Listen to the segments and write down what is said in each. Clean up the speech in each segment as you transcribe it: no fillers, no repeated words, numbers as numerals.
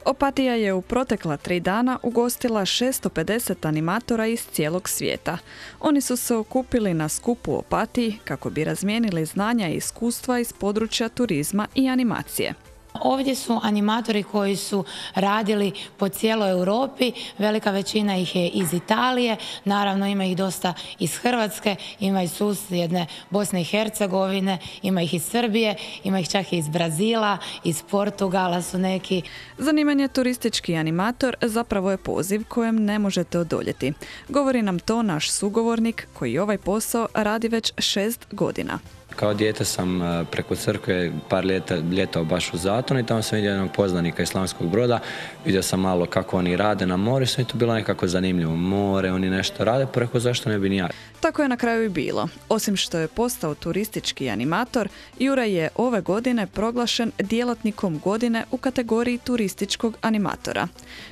Opatija je u protekla 3 dana ugostila 650 animatora iz cijelog svijeta. Oni su se okupili na skupu u Opatiji kako bi razmijenili znanja i iskustva iz područja turizma i animacije. Ovdje su animatori koji su radili po cijeloj Europi, velika većina ih je iz Italije, naravno ima ih dosta iz Hrvatske, ima iz susjedne Bosne i Hercegovine, ima ih iz Srbije, ima ih čak i iz Brazila, iz Portugala su neki. Zanimanje turistički animator zapravo je poziv kojem ne možete odoljeti. Govori nam to naš sugovornik koji ovaj posao radi već 6 godina. Kao dijete sam preko crkve par ljetao baš u Zatonu i tamo sam vidio jednog poznanika iz Slavonskog Broda. Vidio sam malo kako oni rade na moru i sve to bilo nekako zanimljivo. More, oni nešto rade, pa rekao zašto ne bi ni ja. Tako je na kraju i bilo. Osim što je postao turistički animator, Jura je ove godine proglašen djelatnikom godine u kategoriji turističkog animatora.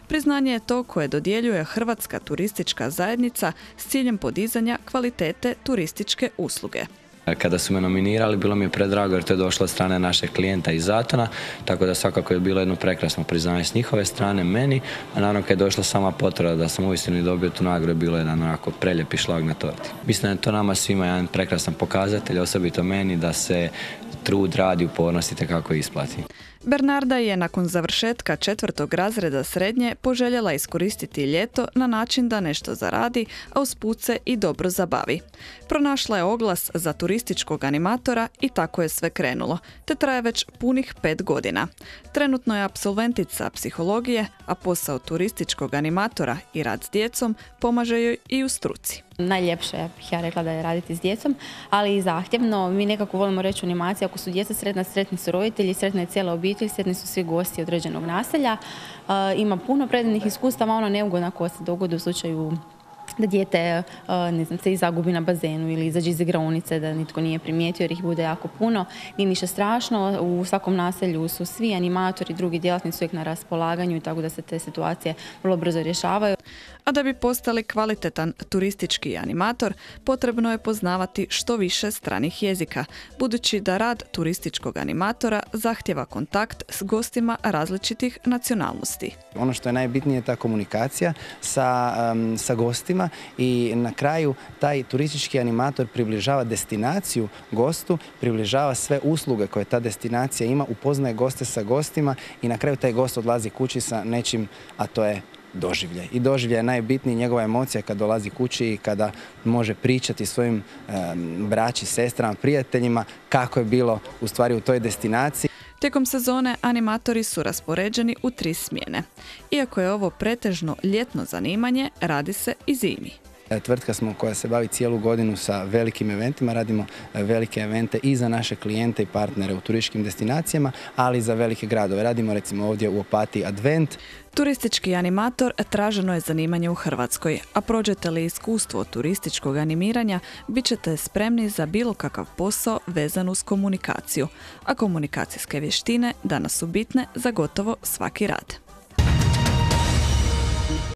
Priznanje je to koje dodjeljuje Hrvatska turistička zajednica s ciljem podizanja kvalitete turističke usluge. Kada su me nominirali, bilo mi je predrago jer to je došlo od strane našeg klijenta iz Zatona, tako da svakako je bilo jedno prekrasno priznanje s njihove strane meni, a naravno kad je došla sama potvrda da sam uistinu dobio tu nagradu, bilo jedan onako preljepi šlag na torti. Mislim da je to nama svima jedan prekrasan pokazatelj, osobito meni, da se trud, rad i upornost itekako isplati. Bernarda je nakon završetka 4. razreda srednje poželjela iskoristiti ljeto na način da nešto zaradi, a usput se i dobro zabavi. Pronašla je oglas za turističkog animatora i tako je sve krenulo, te traje već punih 5 godina. Trenutno je apsolventica psihologije, a posao turističkog animatora i rad s djecom pomaže joj i u struci. Najljepše bih ja rekla da je raditi s djecom, ali i zahtjevno. Mi nekako volimo reći u animaciji, ako su djeca sretna, sretni su roditelji, sretna je cijela obitelj, sretni su svi gosti određenog naselja. Ima puno predivnih iskustava, ono neugodna koja se dogodi u slučaju da dijete se i zagubi na bazenu ili izađe iz igraonice da nitko nije primijetio jer ih bude jako puno. Nije ništa strašno, u svakom naselju su svi animatori, drugi djelatnici uvijek na raspolaganju i tako da se te situacije vrlo brzo rješavaju. A da bi postali kvalitetan turistički animator, potrebno je poznavati što više stranih jezika, budući da rad turističkog animatora zahtjeva kontakt s gostima različitih nacionalnosti. Ono što je najbitnije je ta komunikacija sa gostima i na kraju taj turistički animator približava destinaciju gostu, približava sve usluge koje ta destinacija ima, upoznaje goste sa gostima i na kraju taj gost odlazi kući sa nečim, a to je doživljaj. I doživljaj je najbitniji, njegova emocija kad dolazi kući i kada može pričati svojim braći, sestrama, prijateljima kako je bilo u stvari u toj destinaciji. Tijekom sezone animatori su raspoređeni u 3 smjene. Iako je ovo pretežno ljetno zanimanje, radi se i zimi. Tvrtka smo koja se bavi cijelu godinu sa velikim eventima, radimo velike evente i za naše klijente i partnere u turističkim destinacijama, ali i za velike gradove. Radimo recimo ovdje u Opatiji Advent. Turistički animator traženo je zanimanje u Hrvatskoj, a prođete li iskustvo turističkog animiranja, bit ćete spremni za bilo kakav posao vezan uz komunikaciju, a komunikacijske vještine danas su bitne za gotovo svaki rad.